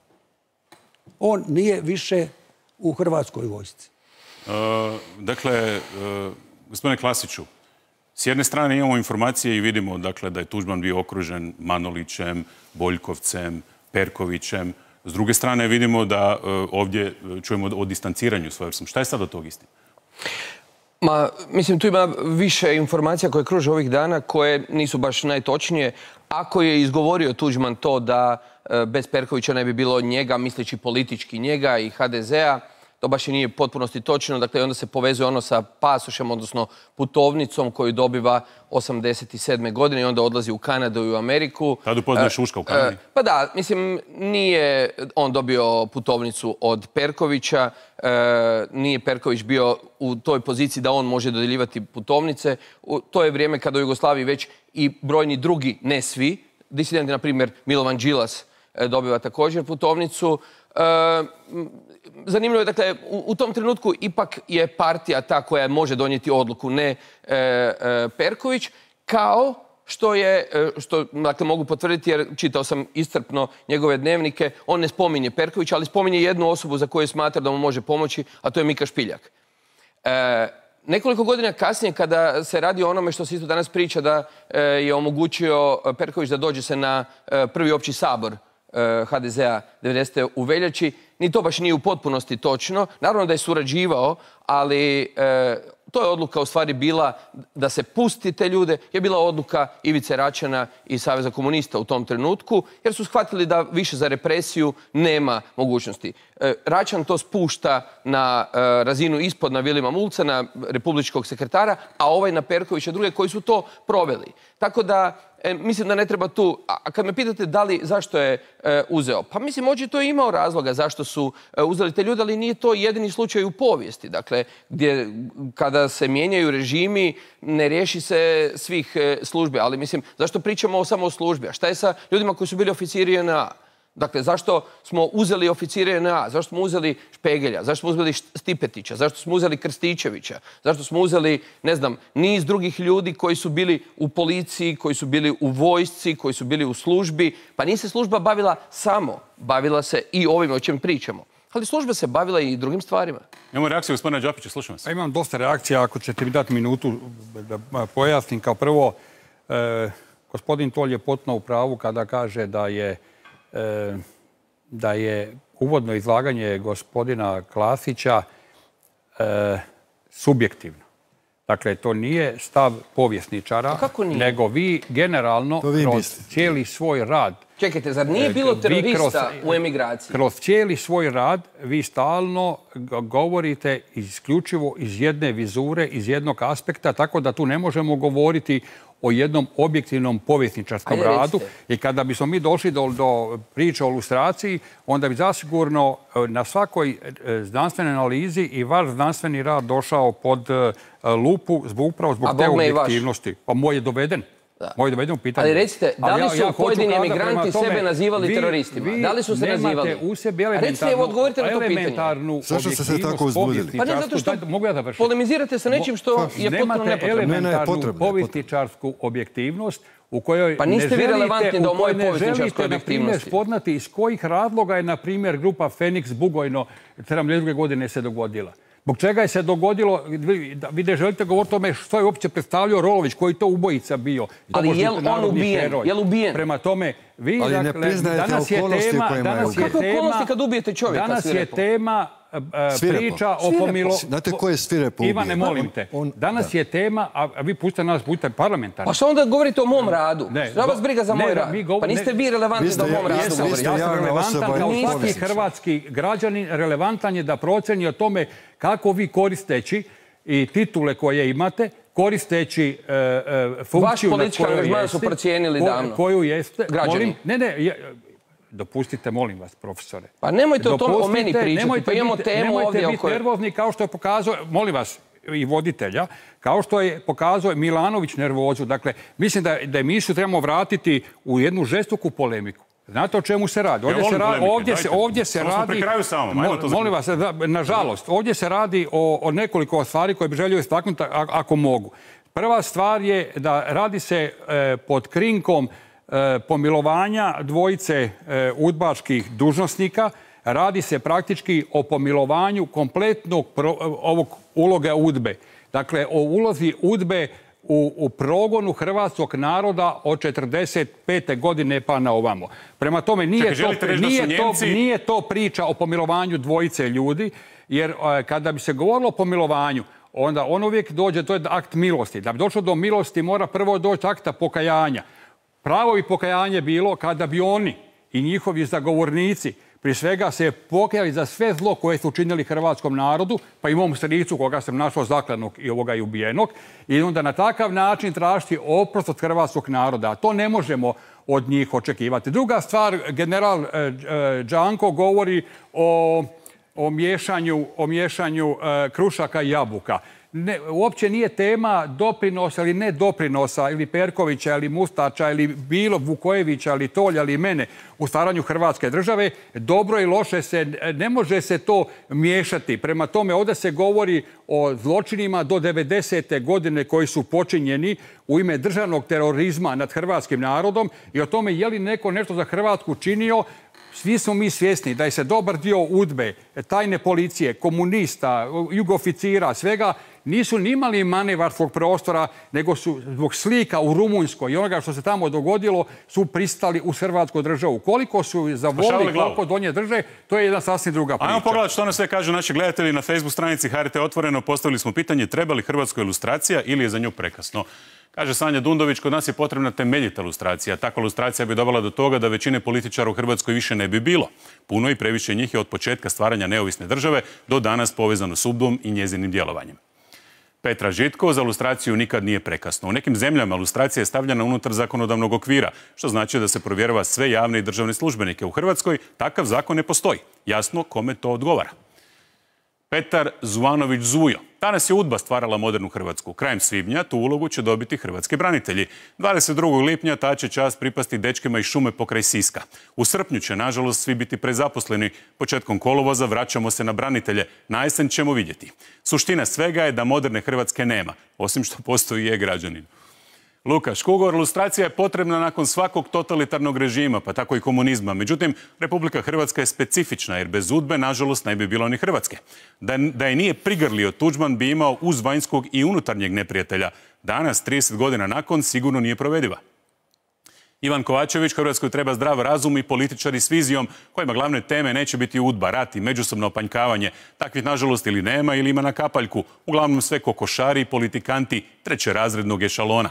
[SPEAKER 2] On nije više u Hrvatskoj vojsci.
[SPEAKER 1] Dakle, gospodine Klasiću, s jedne strane imamo informacije i vidimo da je Tuđman bio okružen Manolićem, Boljkovcem, Perkovićem. S druge strane vidimo da ovdje čujemo o distanciranju svojevrsnom. Šta je sad od tog istina?
[SPEAKER 10] Mislim, tu ima više informacija koje kruže ovih dana koje nisu baš najtočnije. Ako je izgovorio Tuđman to da bez Perkovića ne bi bilo njega, misleći politički njega i HDZ-a, to baš i nije potpunosti točno. Dakle, onda se povezuje ono sa pasošem, odnosno putovnicom koju dobiva 87. godine i onda odlazi u Kanadu i u Ameriku.
[SPEAKER 1] Tad upoznaje Šuška u Kanadi?
[SPEAKER 10] Pa da, mislim, nije on dobio putovnicu od Perkovića, nije Perković bio u toj poziciji da on može dodjeljivati putovnice. To je vrijeme kada u Jugoslaviji već i brojni drugi, ne svi, disidenti, na primjer Milovan Đilas dobiva također putovnicu. Zanimljivo je, dakle, u tom trenutku ipak je partija ta koja može donijeti odluku, ne Perković, kao što dakle, mogu potvrditi, jer čitao sam iscrpno njegove dnevnike, on ne spominje Perković, ali spominje jednu osobu za koju smatra da mu može pomoći, a to je Mika Špiljak. Nekoliko godina kasnije, kada se radi o onome što se isto danas priča da je omogućio Perković da dođe se na prvi opći sabor HDZ-a 90. u veljači, ni to baš nije u potpunosti točno. Naravno da je surađivao, ali to je odluka u stvari bila da se pusti te ljude, je bila odluka Ivice Račana i Saveza komunista u tom trenutku, jer su shvatili da više za represiju nema mogućnosti. Račan to spušta na razinu ispod, na Vilima Mulca, na republičkog sekretara, a ovaj na Perkovića druge koji su to proveli. Tako da mislim da ne treba tu... A kad me pitate zašto je uzeo, pa mislim očito je imao razloga zašto su uzeli te ljude, ali nije to jedini slučaj u povijesti. Dakle, gdje kada se mijenjaju režimi, ne riješi se svih službi. Ali mislim, zašto pričamo samo o službi? A šta je sa ljudima koji su bili oficiri JNA? Dakle, zašto smo uzeli oficire JNA? Zašto smo uzeli Špegelja? Zašto smo uzeli Stipetića? Zašto smo uzeli Krstičevića? Zašto smo uzeli, ne znam, niz drugih ljudi koji su bili u policiji, koji su bili u vojsci, koji su bili u službi? Pa nije se služba bavila samo, bavila se i ovime o čem pričamo. Ali služba se bavila i drugim stvarima.
[SPEAKER 1] Imamo reakciju gospodina Đapića, slušam vas.
[SPEAKER 9] Imam dosta reakcija, ako ćete mi dati minutu da pojasnim. Kao prvo, gospodin Tolj je potpuno u pravu kada kaže da je uvodno izlaganje gospodina Klasića subjektivno. Dakle, to nije stav povjesničara, nego vi generalno kroz cijeli svoj rad...
[SPEAKER 10] Čekajte, zar nije bilo terorista u emigraciji?
[SPEAKER 9] Kroz cijeli svoj rad vi stalno govorite isključivo iz jedne vizure, iz jednog aspekta, tako da tu ne možemo govoriti o jednom objektivnom povjesničarskom radu. I kada bismo mi došli do priče o lustraciji, onda bi zasigurno na svakoj znanstvenoj analizi i vaš znanstveni rad došao pod lupu upravo zbog te objektivnosti. Pa moj je doveden.
[SPEAKER 10] Ali recite, da li su pojedini emigranti sebe nazivali teroristima? Da li su se nazivali? Recite, odgovorite na to pitanje.
[SPEAKER 12] Zašto ste se tako uzbudili?
[SPEAKER 10] Pa ne zato što polemizirate sa nečim što je potpuno nepotrebno.
[SPEAKER 9] Nemate elementarnu povjesničarsku objektivnost u kojoj
[SPEAKER 10] pa niste vi relevantni da o moje povjesničarskoj objektivnosti
[SPEAKER 9] spoznati iz kojih razloga je, na primjer, grupa Feniks Bugojno 72. godine se dogodila. Zbog čega je se dogodilo, vi ne želite govoriti o tome što je uopće predstavljao Rolović, koji to ubojica bio.
[SPEAKER 10] Ali je li on ubijen? Je li ubijen?
[SPEAKER 9] Prema tome, vi,
[SPEAKER 12] ali ne priznajete okolnosti u kojima je ubijen.
[SPEAKER 10] Kakve okolnosti kad ubijete čovjeka?
[SPEAKER 9] Danas je tema priča o pomilovanju.
[SPEAKER 12] Znate ko je svirepo ubije?
[SPEAKER 9] Ivane, molim te. Danas je tema, a vi pustite nas, budite parlamentarni.
[SPEAKER 10] Pa što onda govorite o mom radu? Šta vas briga za moj rad? Pa niste vi relevantni da o mom radu govorite.
[SPEAKER 9] Ja sam relevantan kao svaki hrvatski građanin, relevantan je da proceni o tome kako vi koristeći i titule koje imate, koristeći funkciju
[SPEAKER 10] vaš politički angažman su procijenili davno.
[SPEAKER 9] Koju jeste.
[SPEAKER 10] Građani.
[SPEAKER 9] Dopustite, molim vas, profesore.
[SPEAKER 10] Pa nemojte o meni pričati, pa imamo temu ovdje.
[SPEAKER 9] Nemojte biti nervozni kao što je pokazao, molim vas, i voditelja, kao što je pokazao Milanović nervozu. Dakle, mislim da emisiju trebamo vratiti u jednu žestoku polemiku. Znate o čemu se radi? Ovdje se radi, molim vas, nažalost, ovdje se radi o nekoliko stvari koje bi želio istaknuti ako mogu. Prva stvar je da radi se pod krinkom pomilovanja dvojice udbaških dužnosnika. Radi se praktički o pomilovanju kompletnog ovog uloga UDBE. Dakle, o ulozi UDBE u progonu hrvatskog naroda od 1945. godine pa na ovamo. Prema tome, nije to priča o pomilovanju dvojice ljudi, jer kada bi se govorilo o pomilovanju, onda on uvijek dođe, to je akt milosti. Da bi došlo do milosti mora prvo doći akta pokajanja. Pravo bi pokajanje bilo kada bi oni i njihovi zagovornici prije svega se pokajali za sve zlo koje su učinili hrvatskom narodu, pa i mom stricu koga sam našao zaklanog i ovoga i ubijenog, i onda na takav način tražiti oprost od hrvatskog naroda. A to ne možemo od njih očekivati. Druga stvar, general Đanko govori o miješanju krušaka i jabuka. Uopće nije tema doprinosa ili ne doprinosa ili Perkovića ili Mustača ili bilo Vukojevića ili Tolja ili mene u stvaranju Hrvatske države. Dobro i loše ne može se to miješati. Prema tome, ovdje se govori o zločinima do 90. godine koji su počinjeni u ime državnog terorizma nad hrvatskim narodom i o tome je li neko nešto za Hrvatsku činio. Svi smo mi svjesni da je se dobar dio UDBE, tajne policije, komunista, jugoficira, svega, nisu ni imali manevarskog prostora, nego su zbog slika u Rumunjskoj i onoga što se tamo dogodilo su pristali u hrvatsku državu. Koliko su zavolili, koliko do nje drže, to je jedna sasvim druga priča.
[SPEAKER 1] Ajmo pogledati što nam sve kažu naši gledatelji na Facebook stranici HRT Otvoreno. Postavili smo pitanje treba li Hrvatskoj ilustracija ili je za nju prekasno. Kaže Sanja Dundović, kod nas je potrebna temeljita ilustracija. Takva ilustracija bi dovela do toga da većine političara u Hrvatskoj više ne bi bilo. Puno i previše njih je od početka stvaranja neovisne države do danas povezano s UDBom i njezinim djelovanjem. Petra Žitko, za ilustraciju nikad nije prekasno. U nekim zemljama ilustracija je stavljena unutar zakonodavnog okvira, što znači da se provjerava sve javne i državne službenike. U Hrvatskoj takav zakon ne postoji. Jasno kome to odgovara. Petar Zuvanović Zujo. Danas je UDBA stvarala modernu Hrvatsku. Krajem svibnja tu ulogu će dobiti hrvatski branitelji. 22. lipnja ta će čast pripasti dečkima iz šume pokraj Siska. U srpnju će, nažalost, svi biti prezaposleni. Početkom kolovoza vraćamo se na branitelje. Na jesen ćemo vidjeti. Suština svega je da moderne Hrvatske nema, osim što postoji e-građanin. Luka Škugor, ilustracija je potrebna nakon svakog totalitarnog režima, pa tako i komunizma. Međutim, Republika Hrvatska je specifična, jer bez UDBE, nažalost, ne bi bilo ni Hrvatske. Da je nije prigrlio, Tuđman bi imao uz vanjskog i unutarnjeg neprijatelja. Danas, 30 godina nakon, sigurno nije provediva. Ivan Kovačević, Hrvatskoj treba zdrav razum i političari s vizijom kojima glavne teme neće biti UDBA, rat i međusobno opanjkavanje. Takvih, nažalost, ili nema ili ima na kapaljku. Uglavnom sve kokošari i politikanti trećerazrednog ešalona.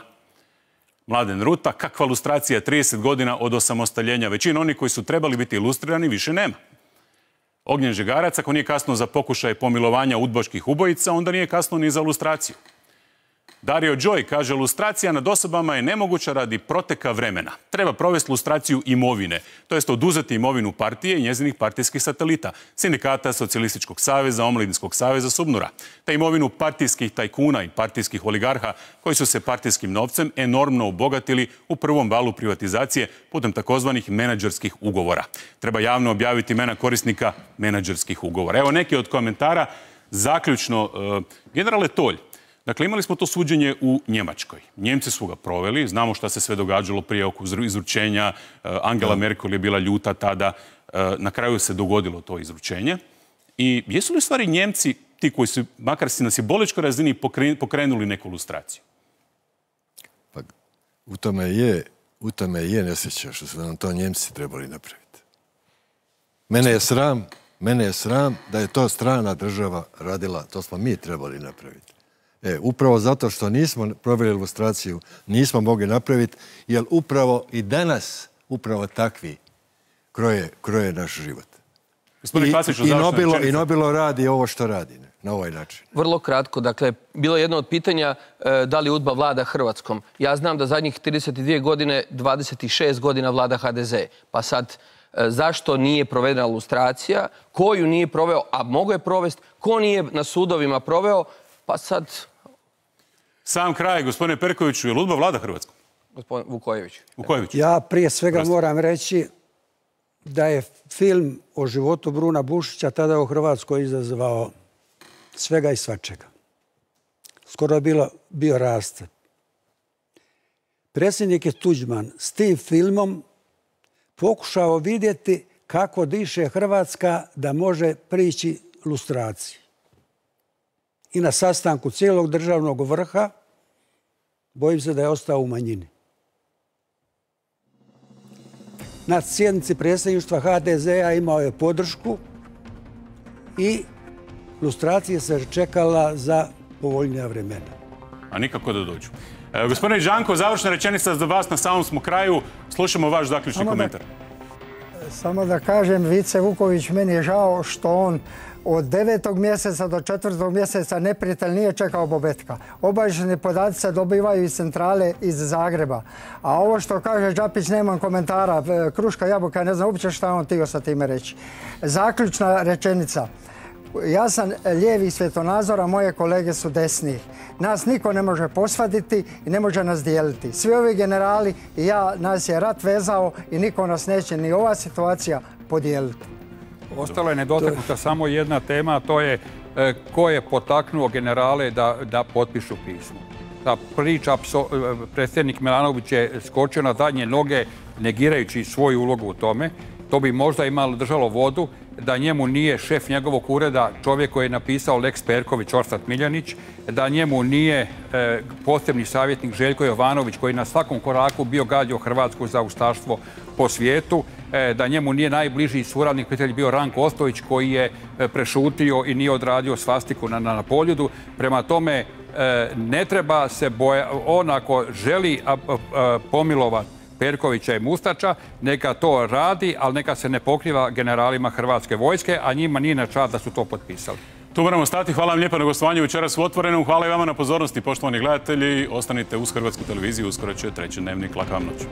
[SPEAKER 1] Mladen Ruta, kakva ilustracija 30 godina od osamostaljenja. Većina onih koji su trebali biti ilustrirani više nema. Ognjen Žegarac, ako nije kasno za pokušaj pomilovanja udbaških ubojica, onda nije kasno ni za ilustraciju. Dario Đoj kaže, ilustracija nad osobama je nemoguća radi proteka vremena. Treba provesti ilustraciju imovine, to jest oduzeti imovinu partije i njezinih partijskih satelita, sindikata, Socijalističkog saveza, Omladinskog saveza, Subnura, te imovinu partijskih tajkuna i partijskih oligarha koji su se partijskim novcem enormno obogatili u prvom valu privatizacije putem takozvanih menadžerskih ugovora. Treba javno objaviti imena korisnika menadžerskih ugovora. Evo neki od komentara. Zaključno, generale Tolj, Dakle, imali smo to suđenje u Njemačkoj. Njemci su ga proveli, znamo šta se sve događalo prije oko izručenja. Angela Merkel je bila ljuta tada. Na kraju se dogodilo to izručenje. I jesu li u stvari Njemci ti koji su, makar si na simboličkoj razini, pokrenuli neku lustraciju?
[SPEAKER 12] Pa, u tome je nesreća što su nam to Njemci trebali napraviti. Mene je sram da je to strana država radila, to smo mi trebali napraviti. Upravo zato što nismo proveli lustraciju, nismo mogli napraviti, jer upravo i danas, upravo takvi kroje naš život. I Nobilo radi ovo što radi, na ovaj način.
[SPEAKER 10] Vrlo kratko, dakle, bilo je jedno od pitanja da li UDBA vlada Hrvatskom. Ja znam da zadnjih 32 godine, 26 godina vlada HDZ. Pa sad, zašto nije provedena lustracija? Ko ju nije proveo, a mogo je provesti? Ko nije na sudovima proveo? Pa sad...
[SPEAKER 1] Sam kraj, gospodine Perkoviću, je li UDBA vlada Hrvatskom?
[SPEAKER 10] Gospodin Vukojević.
[SPEAKER 2] Ja prije svega moram reći da je film o životu Bruna Bušića tada u Hrvatskoj izazvao svega i svačega. Skoro je bio raste. Predsjednik je Tuđman s tim filmom pokušao vidjeti kako diše Hrvatska da može prići lustraciji. I na sastanku cijelog državnog vrha bojim se da je ostao u manjini. Na sjednici predsjedništva HDZ-a imao je podršku i lustracija se čekala za povoljnija vremena.
[SPEAKER 1] A nikako da dođu. Gospodine Žanko, završna rečenica za vas, na samom smo kraju. Slušamo vaš zaključni komentar.
[SPEAKER 11] Samo da kažem, Vice Vuković, meni je žao što on od 9. mjeseca do 4. mjeseca neprijatelj nije čekao Bobetka. Obavještajni podaci se dobivaju iz centrale iz Zagreba. A ovo što kaže Đapić, nemam komentara, kruška, jabuka, ne znam uopće šta on htio sa time reći. Zaključna rečenica. Ja sam lijevi svjetonazora, moje kolege su desni. Nas niko ne može posvaditi i ne može nas dijeliti. Svi ovi generali i ja, nas je rat vezao i niko nas neće ni ova situacija podijeliti.
[SPEAKER 9] Ostala je nedotaknuta samo jedna tema, a to je ko je potaknuo generale da potpišu pismo. Ta priča, predsjednik Milanović je skočio na zadnje noge negirajući svoju ulogu u tome. To bi možda imalo držalo vodu da njemu nije šef njegovog ureda čovjek koji je napisao Lex Perković, Orsat Miljanić, da njemu nije posebni savjetnik Željko Jovanović koji na svakom koraku bio gađao Hrvatsku za ustaštvo po svijetu, da njemu nije najbliži suradnik prijatelj bio Ranko Ostojić koji je prešutio i nije odradio svastiku na Poljudu. Prema tome, ne treba se bojati, on ako želi pomilovati Perkovića i Mustača, neka to radi, ali neka se ne pokriva generalima Hrvatske vojske, a njima nije na čast da su to potpisali.
[SPEAKER 1] Tu moramo stati. Hvala vam lijepo na gostovanju večeras u Otvorenom. Hvala i vama na pozornosti, poštovani gledatelji. Ostanite uz Hrvatsku televiziju, uskoro će treći dnevnik. Laka vam noć.